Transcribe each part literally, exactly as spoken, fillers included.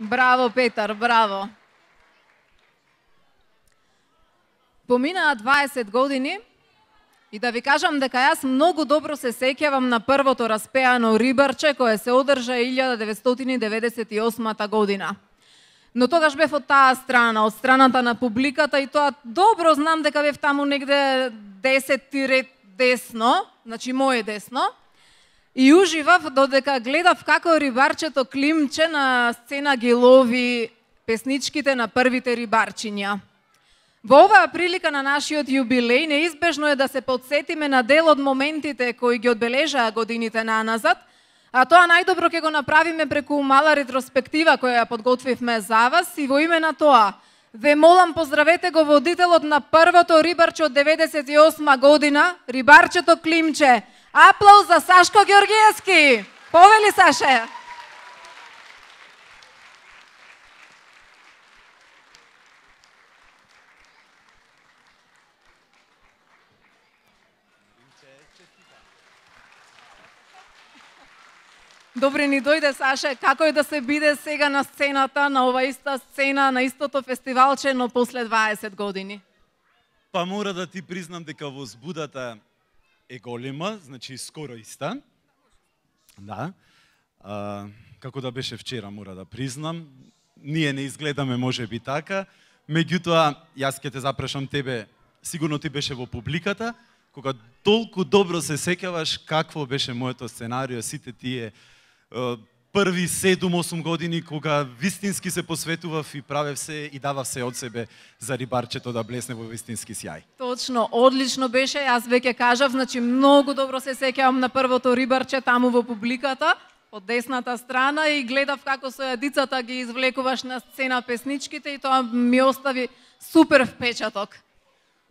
Браво, Петар, браво. Поминаа дваесет години и да ви кажам дека јас многу добро се сеќавам на првото распеано рибарче кое се одржа илјада деветстотини деветдесет и осма година. Но тогаш бев од таа страна, од страната на публиката и тоа добро знам дека бев таму негде десетти ред десно, значи моје десно, и уживав додека гледав како рибарчето Климче на сцена ги лови песничките на првите рибарчиња. Во оваа прилика на нашиот јубилеј неизбежно е да се подсетиме на дел од моментите кои ги одбележаа годините наназад, а тоа најдобро ќе го направиме преку мала ретроспектива која ја подготвивме за вас и во име на тоа ве молам поздравете го водителот на првото рибарче од деветдесет и осма година, рибарчето Климче. Аплауз за Сашко Ѓоргиевски. Повели, Саше. Добре ни дојде, Саше, како е да се биде сега на сцената, на ова иста сцена, на истото фестивалче, но после дваесет години? Па мора да ти признам дека возбудата е голема, значи скоро иста. Да. А, како да беше вчера, мора да признам. Ние не изгледаме може би така, меѓутоа, јас ќе те запрашам тебе, сигурно ти беше во публиката, кога толку добро се сеќаваш какво беше моето сценарио, сите тие први седум-осум години кога вистински се посветував и правев се и давав се од себе за рибарчето да блесне во вистински сјај. Точно, одлично беше, јас веќе кажав, значи многу добро се сеќавам на првото рибарче таму во публиката, од десната страна и гледав како со јадицата ги извлекуваш на сцена песничките и тоа ми остави супер впечаток.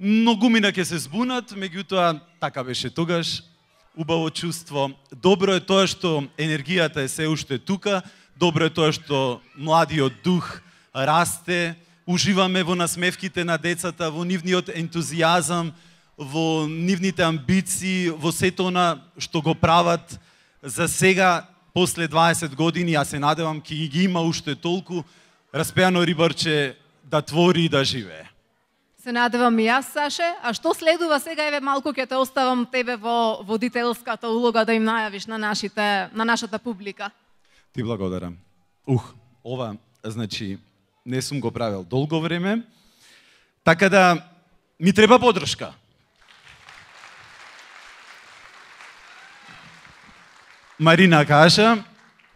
Многумина ќе се збунат, меѓутоа така беше тогаш. Убаво чувство. Добро е тоа што енергијата е се уште тука, добро е тоа што младиот дух расте, уживаме во насмевките на децата, во нивниот ентузијазам, во нивните амбиции, во сето она што го прават за сега, после дваесет години, ја се надевам ќе ги има уште толку распеано рибарче да твори и да живее. Се надевам и јас, Саше. А што следува сега? Еве малку ќе те оставам тебе во водителската улога да им најавиш на нашите на нашата публика. Ти благодарам. Ух, ова значи не сум го правил долго време. Така да ми треба поддршка. Марина кажа,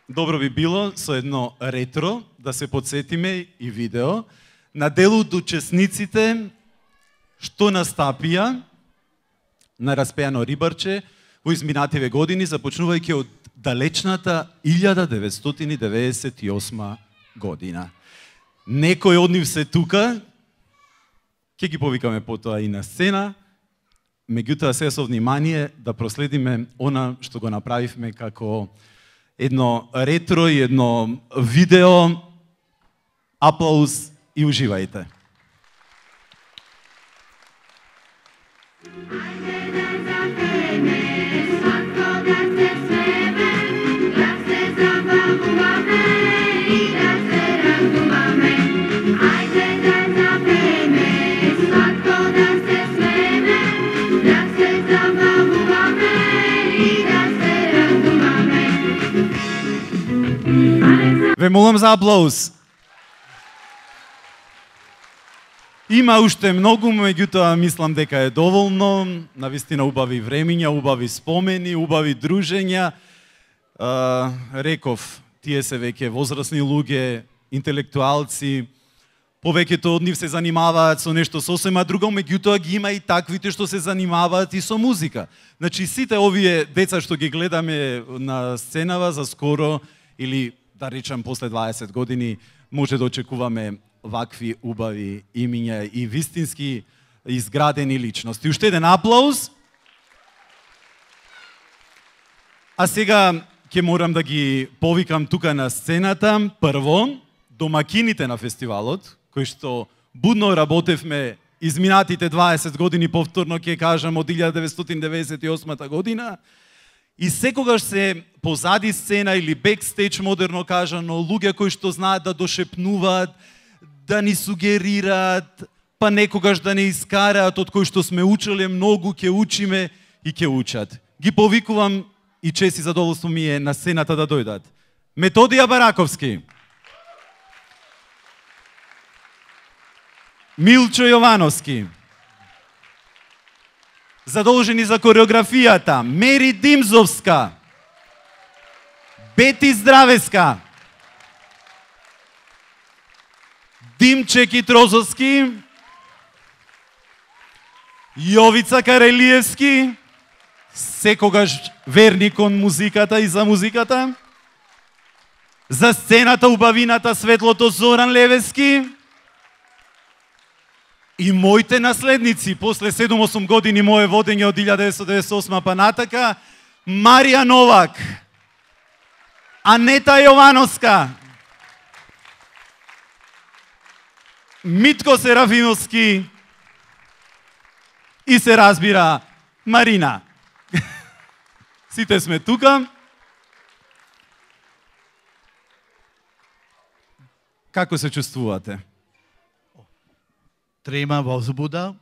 добро би било со едно ретро да се подсетиме и видео на дел од учесниците што настапија на распеано рибарче во изминативе години, започнувајќи од далечната илјада деветстотини деветдесет и осма година. Некои од нив се тука, ќе ги повикаме потоа и на сцена, меѓутоа се со внимание да проследиме она што го направивме како едно ретро и едно видео. Аплауз и уживајте. Ве молам за аплауз. Има уште многу, меѓутоа мислам дека е доволно. Навистина убави времиња, убави спомени, убави дружења. А, реков, тие се веќе возрасни луѓе, интелектуалци, повеќето од нив се занимаваат со нешто сосема друго, меѓутоа ги има и таквите што се занимаваат и со музика. Значи сите овие деца што ги гледаме на сценава за скоро или да речам после дваесет години може да очекуваме вакви убави имиња и вистински изградени личности. Уште еден аплауз. А сега ќе морам да ги повикам тука на сцената. Прво, домакините на фестивалот, кои што будно работевме изминатите дваесет години, повторно ќе кажам, од илјада деветстотини деветдесет и осма година, И секогаш се позади сцена или бекстејдж, модерно кажано, луѓе кои што знаат да дошепнуваат, да ни сугерираат, па некогаш да не искараат од кои што сме учеле многу, ќе учиме и ќе учат. Ги повикувам и чест и задоволство ми е на сцената да дојдат. Методија Бараковски, Милчо Јовановски, задолжени за кореографијата, Мери Димзовска, Бети Здравеска, Димче Китрозовски, Јовица Карелиевски, секогаш верни кон музиката и за музиката, за сцената убавината светлото Зоран Левески и моите наследници после седум-осум години мое водење од илјада деветстотини деветдесет и осма па натака, Марија Новак, Анета Јовановска, Митко Серафимовски и се разбира Марина. Сите сме тука. Како се чувствувате? Трема, возбуда,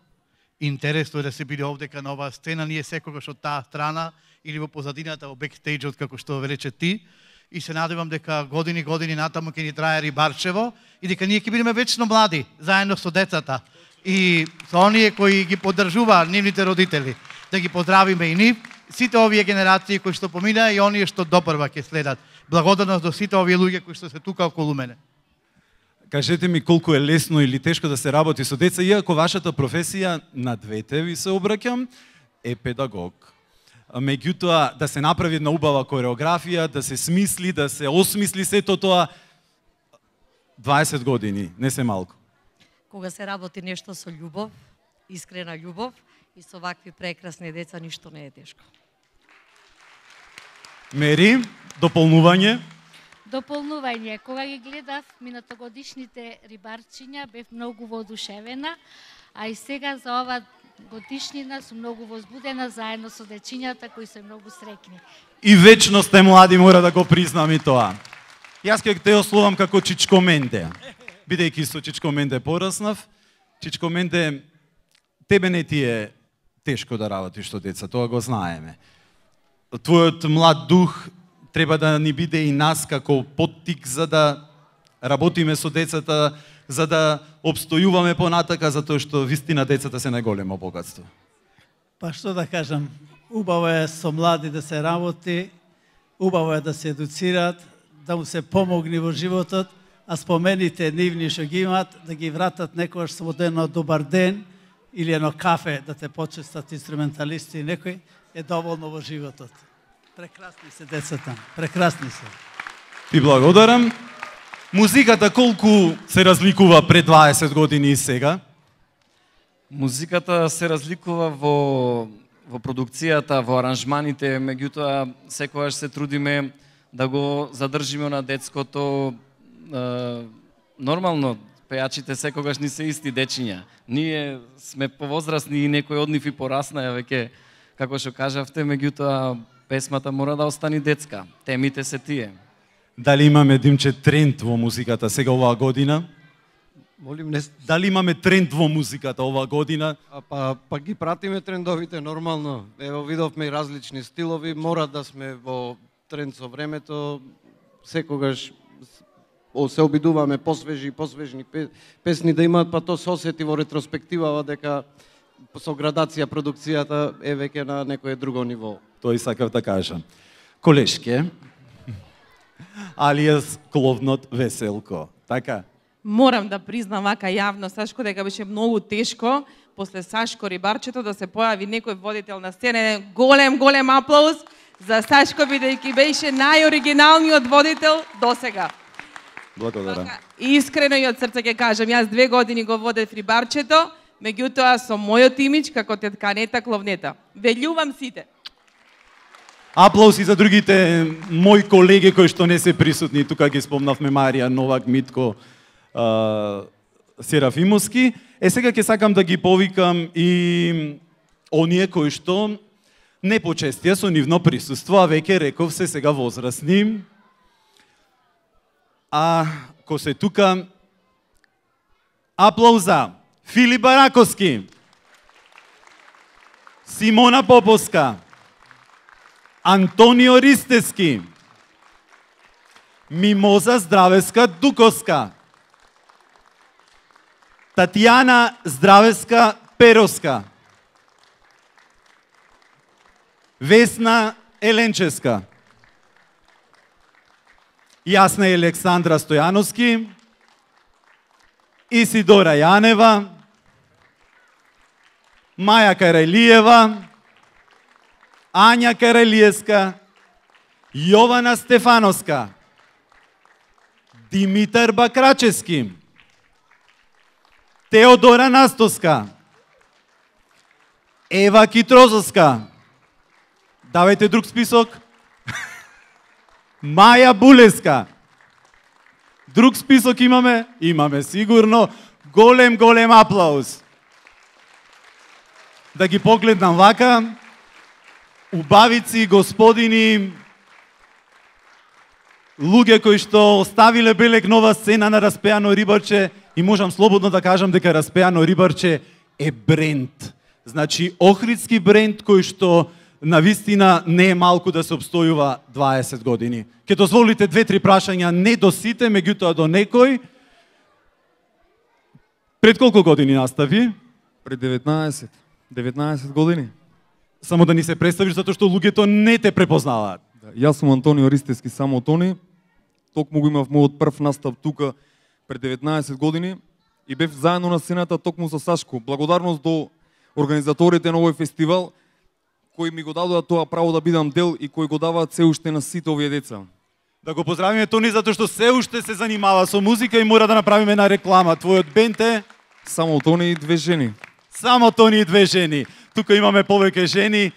интересно е да се биде овдека на оваа сцена, ние секогаш од таа страна или во позадината, во бекстејџот, како што рече ти, и се надевам дека години години натаму ќе ни трае Рибарчево и дека ние ќе бидеме вечно млади, заедно со децата и со оние кои ги поддржуваат нивните родители. Да ги поздравиме и нив, сите овие генерации кои што помина и оние што допрва ќе следат. Благодарност до сите овие луѓе кои што се тука околу мене. Кажете ми колку е лесно или тешко да се работи со деца, иако вашата професија, на двете ви се обраќам, е педагог. Меѓутоа, да се направи една убава кореографија, да се смисли, да се осмисли сето тоа, дваесет години, не се малку. Кога се работи нешто со љубов, искрена љубов и со вакви прекрасни деца, ништо не е тешко. Мери, дополнување? Дополнување, кога ги гледав минатогодишните рибарчиња, бев многу воодушевена, а и сега за ова годишнина сум многу возбудена заедно со дечињата кои се многу среќни. И вечно сте млади, мора да го признам и тоа. Јас ќе те ословам како Чичко Менде. Бидејќи со Чичко Менде пораснав, Чичко Менде, тебе не ти е тешко да работиш со деца, тоа го знаеме. Твојот млад дух треба да ни биде и нас како поттик за да работиме со децата, за да обстојуваме понатака, затоа што вистина децата се најголемо богатство. Па што да кажам, убаво е со млади да се работи, убаво е да се едуцираат, да му се помогне во животот, а спомените нивни што ги имаат, да ги вратат некојаш со едно добар ден или едно кафе да те почестат инструменталисти и некој, е доволно во животот. Прекрасни се децата, прекрасни се. Ти благодарам. Музиката колку се разликува пред дваесет години и сега? Музиката се разликува во во продукцијата, во аранжманите, меѓутоа секогаш се трудиме да го задржиме на детското. Е, нормално, пејачите секогаш ни се исти дечиња. Ние сме повозрасни и некои од нив и пораснаја веќе, како што кажавте, меѓутоа песмата мора да остани детска. Темите се тие. Дали имаме, Димче, тренд во музиката сега оваа година? Молим, не... Дали имаме тренд во музиката оваа година? А, па, па ги пратиме трендовите нормално. Ево, видовме и различни стилови, мора да сме во тренд со времето. Секогаш се обидуваме посвежи и посвежни песни да имаат, па то се осети во ретроспективава дека со градација продукцијата е веќе на некое друго ниво. Тој сакав да кажам. Колешке, алијас Кловнот Веселко, така? Морам да признам вака јавно, Сашко, дека беше многу тешко после Сашко Рибарчето да се појави некој водител на сцена. Голем, голем аплауз за Сашко, бидејќи беше најоригиналниот водител досега. Благодарам. И искрено и од срце ќе кажам, јас две години го водев Рибарчето, меѓутоа со мојот имидж како тетка Анета Кловнета. Велјувам сите. Аплауз и за другите мои колеги кои што не се присутни. Тука ги спомнавме Марија Новак, Митко uh, Серафимовски. Е, сега ќе сакам да ги повикам и оние кои што непочестија со нивно присуство, а веќе реков се сега возрастни. А ко се тука, аплауза, Филип Бараковски, Симона Поповска, Антонио Ристески, Мимоза Здравеска Дуковска, Татјана Здравеска Перовска, Весна Еленческа, Јасна Александра Стојановски, Исидора Јанева, Маја Карајлиева, Ања Карајлиевска, Јована Стефановска, Димитар Бакрачевски, Теодора Настоска, Ева Китрозовска, давајте друг список, Маја Булеска, друг список имаме? Имаме сигурно. Голем, голем аплауз. Да ги погледнам вака, убавици, господини, луѓе кои што оставиле белег нова сцена на Распеано рибарче, и можам слободно да кажам дека Распеано рибарче е бренд. Значи, охридски бренд кој што на вистина не е малку да се обстојува дваесет години. Ке дозволите две-три прашања, не до сите, меѓутоа до некој. Пред колку години настави? Пред деветнаесет. деветнаесет години. Само да ни се представиш, затоа што луѓето не те препознаваат. Да, јас сум Антонио Ристески, само Тони. Токму го имав мојот прв настап тука пред деветнаесет години и бев заедно на сцената токму со Сашко. Благодарност до организаторите на овој фестивал кои ми го дадоа тоа право да бидам дел и кои го даваат се уште на сите овие деца. Да го поздравиме Тони затоа што се уште се занимава со музика и мора да направиме на реклама. Твојот бенд е Само Тони и две жени. Само Тони и две жени. Тука имаме повеќе жени.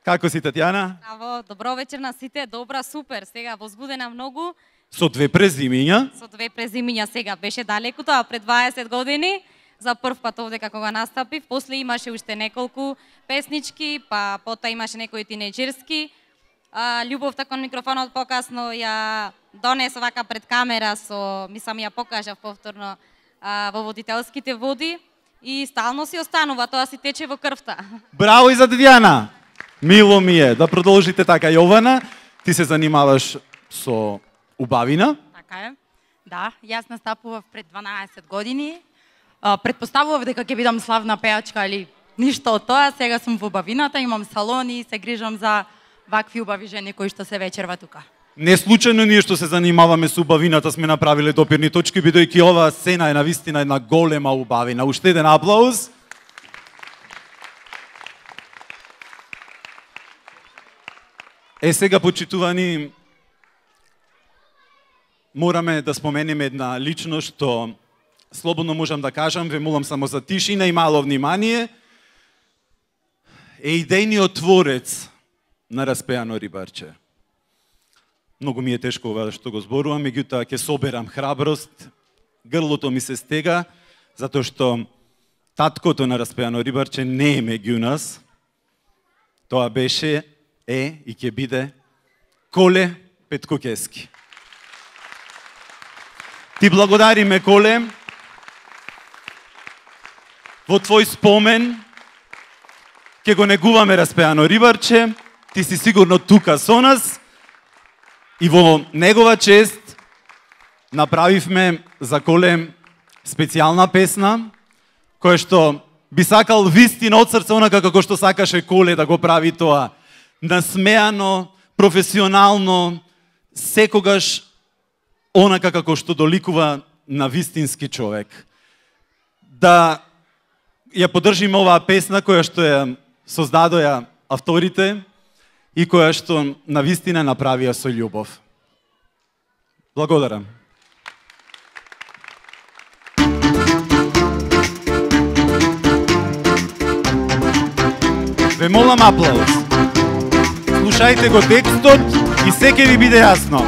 Како си, Татјана? Браво, добро вечер на сите. Добра, супер. Сега возбудена многу. Со две презимиња. Со две презимиња сега беше далеку тоа пред дваесет години. За прв пат овде како го настапив. После имаше уште неколку песнички, па потоа имаше некои тинеџерски. А, љубовта кон микрофонот покасно ја донесо вака пред камера со, мислам ја покажав повторно а, во водителските води и стално си останува, тоа си тече во крвта. Браво и за Татјана. Мило ми е да продолжите така. Јована, ти се занимаваш со убавина? Така е. Да, јас настапував пред дванаесет години. А, предпоставував дека ќе бидам славна пејачка или ништо од тоа. Сега сум во убавината, имам салони и се грижам за вакви убави жени кои што се вечерва тука. Не случајно ние што се занимаваме со убавината сме направиле допирни точки, бидејќи оваа сцена е навистина една голема убавина. Уште еден аплауз. Е, сега, почитувани, мораме да споменеме една личност што слободно можам да кажам, ве молам само за тишина и мало внимание, е идејниот творец на Распеано рибарче. Многу ми е тешко ова што го зборувам, меѓутоа ќе соберам храброст, грлото ми се стега, затоа што таткото на Распеано рибарче не е меѓу нас. Тоа беше, е и ќе биде Коле Петкокески. Ти благодариме, Коле. Во твој спомен ќе го негуваме Распеано рибарче. Ти си сигурно тука со нас. И во негова чест направивме за Коле специјална песна, која што би сакал вистина од срце, онака како што сакаше Коле да го прави тоа. Насмеано, професионално, секогаш онака како што доликува на вистински човек. Да ја поддржиме оваа песна која што ја создадоја авторите и која што на вистина направија со љубов. Благодарам. Ве молам аплауз. Слушајте го текстот и се ќе ви биде јасно.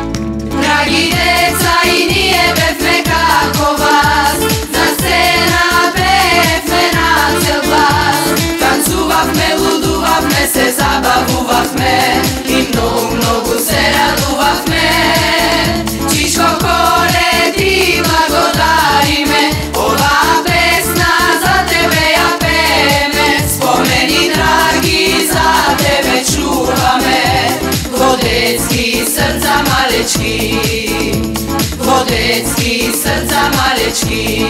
Драги деца, и ние бевме како вас, за сцена пеевме на цел глас, танцувавме, лудувавме, се забавувавме. детски срца малечки.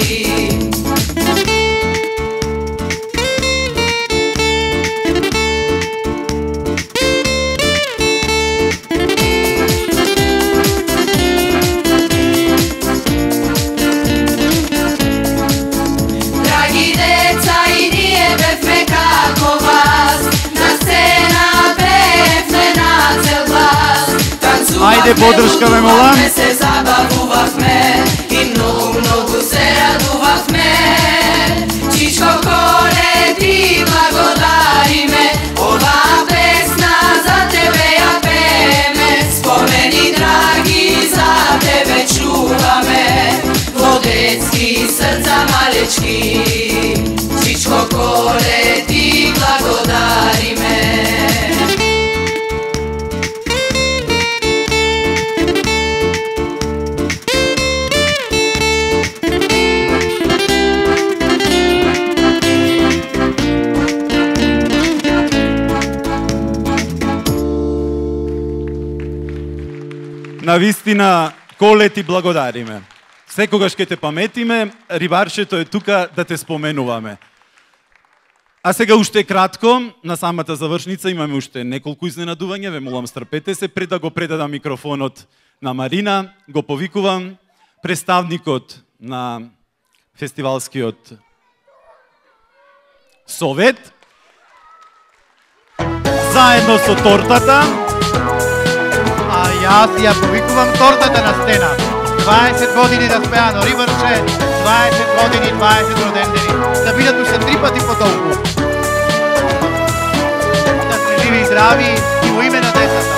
Драги деца, и ние бевме како вас, на сцена пеевме на цел глас. Ајде, подршка ме молам. Се забавувавме и многу, многу се радувавме. Чичко Коле, ти благодариме, ова песна за тебе ја пееме. Спомени драги за тебе чуваме, во детски срца малечки. Чичко Коле, ти благодариме. Навистина, Коле, ти благодариме. Секогаш ке те паметиме, рибарчето е тука да те споменуваме. А сега уште кратко, на самата завршница имаме уште неколку изненадувања, ве молам стрпете се, пред да го предадам микрофонот на Марина, го повикувам представникот на фестивалскиот совет, заедно со тортата. А јас ја повикувам тортата на стена. дваесет години распеано Рибарче, дваесет години, дваесет родендени. Да бидат уште три пати по толку. Да сте живи и здрави и во име на децата.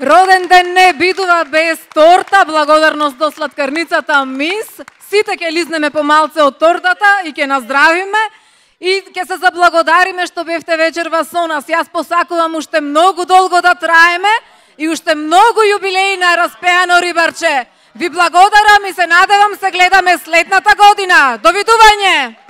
Роден ден не бидува без торта, благодарност до сладкарницата Мис. Сите ќе лизнеме по малце од тортата и ќе наздравиме и ќе се заблагодариме што бевте вечерва со нас. Јас посакувам уште многу долго да траеме и уште многу јубилеи на распеано Рибарче. Ви благодарам и се надевам се гледаме следната година. Довидување!